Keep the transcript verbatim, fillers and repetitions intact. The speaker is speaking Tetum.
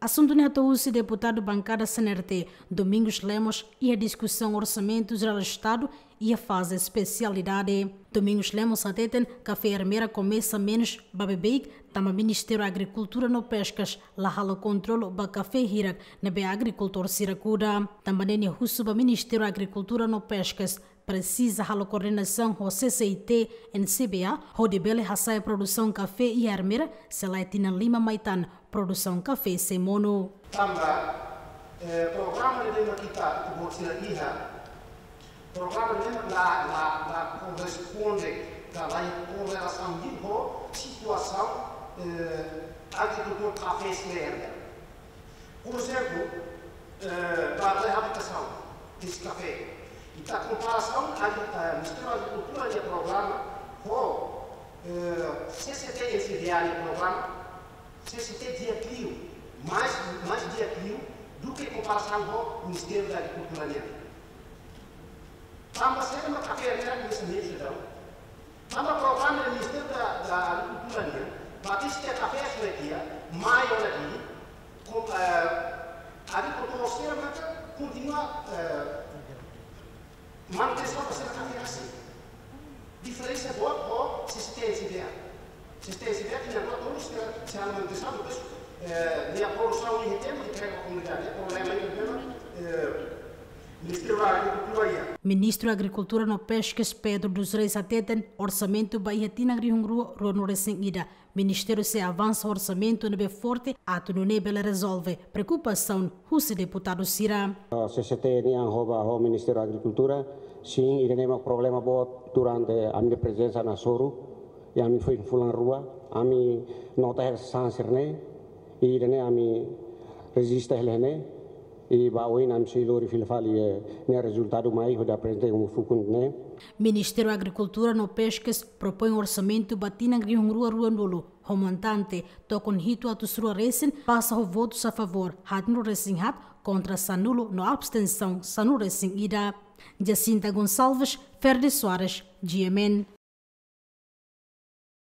Asuntu ne'e hato'o husi deputadu bankada C N R T, Domingos Lemos, iha diskusaun Orsamentu Jerál Estadu iha faze espesialidade. Domingos Lemos hateten kafé Ermera komesa menus ba beibeik, tanba Ministériu Agrikultura no Peskas la halo kontrolu ba kafé hirak ne'ebé agrikultór sira kuda. Tanba ne'e nia husu ba Ministériu Agrikultura no Peskas presiza halo koordenasaun ho C C I T N C B A, hodi bele hasa'e produsaun kafé iha Ermera, se lae tinan lima mai tan produsaun kafé sei monu. Tanba, eh, programa ne'ebé mak ita, ita-boot sira iha, programa ne'e la, la, la korresponde ka la iha korelasaun ho situasaun, eh, agrikultór kafé sira iha Ermera. Por ezemplu, eh, ba reabilitasaun desse kafé. Ita komparasaun, a, eh, Ministériu Agrikultura nia programa ho, eh, C C T N C B A nia programa, C C T di'ak liu, mais, mais di'ak liu duké komparasaun ho Ministériu Agrikultura nian. Tanba saida mak kafé Ermera komesa menus daudaun? Tanba programa Ministériu da, da Agrikultura nian, ba teste kafé sira iha, mai ona di, kom, eh, agrikultór sira maka kontinua, eh, manutensaun ba sira kafé rasik. Diferensa boot ho C C T N C B A. C C T N C B A tinan rua tolu sira, sira manutensaun, depois, eh, nia produsaun iha tempu, entrega ba komunidade. Problema iha tempu, eh, Ministériu Agrikultura iha. Ministru Agrikultura no Peskas Pedro dos Reis hateten orsamentu ba iha tinan rihun rua ruanulu-resin-ida. Ministériu sei avansa orsamentu ne'ebé forte atu nune'e bele rezolve preokupasaun husi deputadu sira. C C T nian ho ba ho Ministériu Agrikultura, sin, ida-ne'e mak problema boot durante ami-nia prezensa na Soru, i ami foin fulan rua, ami nota hela sasán sira-ne'e, i ida-ne'e ami rejista hela ne'e, i ba oin ami sei lori fila fali, eh, nia rezultadu mai hodi aprezenta iha uma fukun ne'e. Ministériu Agrikultura no Peskas propoin orsamentu ba tinan rihun rua ruanulu ho montante tokon hitu atus rua resin, pasa ho votus a favór haatnulu-resin-haat, kontra sanulu no abstensaun sanulu-resin-ida. Jacinta Gonçalves, Ferdi Soares, G M N.